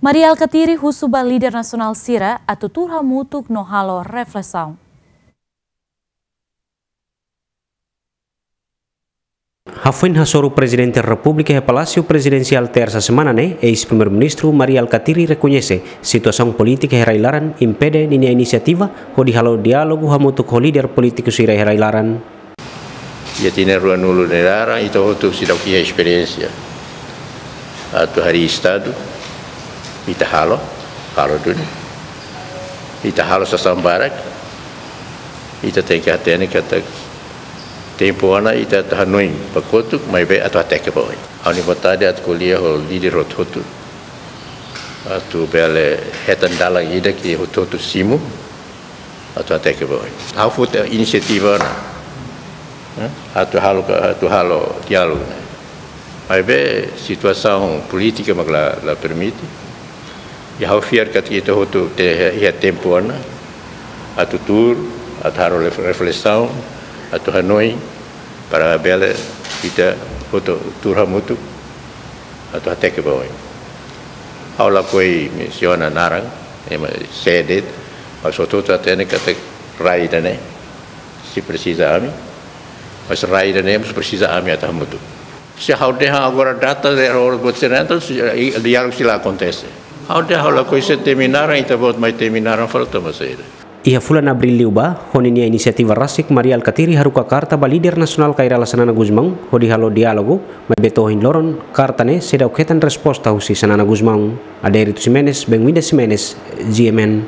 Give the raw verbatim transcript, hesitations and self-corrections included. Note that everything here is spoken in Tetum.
Mari Alkatiri husu ba líder nasionál sira atu tuur hamutuk no halo reflesaun. Hafoin hasoru Prezidente Repúblika iha Palásiu Prezidensiál Tersa semana ne'e, eis-Primeiru-Ministru Mari Alkatiri rekoñese situasaun polítika iha rai-laran impede ninia inisiativa hodi halo diálogu hamutuk ho líder polítiku sira iha rai-laran. Iha tinan ruanulu nia laran, ita hotu seidauk iha esperiénsia atu harii Estadu, ita halo, halo duni. Ita halo sasán barak, ita tenke hatene katak tempu ona ita atu hanoin ba kotuk, maibé atu hateke ba oin. Ha'u-nia vontade atu ko'alia ho líder hotu-hotu, atu bele hetan dalan ida ke hotu-hotu simu, atu hateke ba oin. Ha'u foti inisiativa ona, eh, atu halo ka, atu halo diálogu ne'e. Maibé situasaun polítika mak la, la permite. I ha'u fiar katak ita hotu te, iha tempu ona atu tuur, atu halo ref-, reflesaun, atu hanoin, para bele ita hotu tuur hamutuk atu hateke ba oin. Ha'u lakohi mensiona naran, ema sé de'it, mas hotu-hotu hatene katak rai ida-ne'e sei presiza ami, mas rai ida-ne'e mós presiza ami atu hamutuk. Se ha'u dehan agora data de ha'u buat sira, entaun sei, i, diálogu sei la akontese. Ha'u dehan ha'u lakohi sé temi naran, ita-boot mai temi naran fali tama saida. Iha fulan Abríl liubá, ho ninia inisiativa rasik Mari Alkatiri haruka karta ba líder nasionál Kay Rala Xanana Gusmão, hodi halo diálogu, maibé to'o ohin loron, karta ne'e seidauk hetan resposta husi Xanana Gusmão. Adérito Ximenes, Benguinda Ximenes, G M N.